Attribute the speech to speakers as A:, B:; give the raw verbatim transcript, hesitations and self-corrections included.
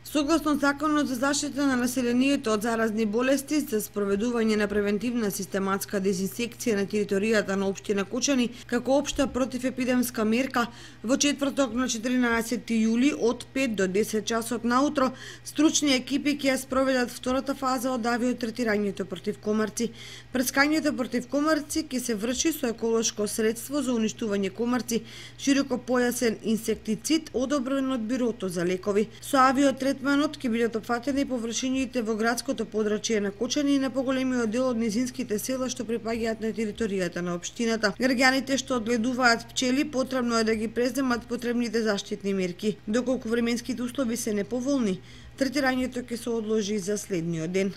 A: Согласно Законот за заштита на населението од заразни болести, за спроведување на превентивна систематска дезинсекција на територијата на општина Кочани, како општа противепидемска мерка, во четврток на четиринаесетти јули од пет до десет часот наутро, стручни екипи ќе ја спроведат втората фаза од авиотретирањето против комарци. Прскањето против комарци ќе се врши со еколошко средство за уништување комарци, широкопојасен инсектицид одобрен од Бирото за лекови. Со авиотретманот ќе бидат опфатени површините во градското подрачје на Кочани и на поголемиот дел од низинските села што припаѓаат на територијата на општината. Граѓаните што одгледуваат пчели потребно е да ги преземат потребните заштитни мерки. Доколку временските услови се неповолни, третирањето ќе се одложи за следниот ден.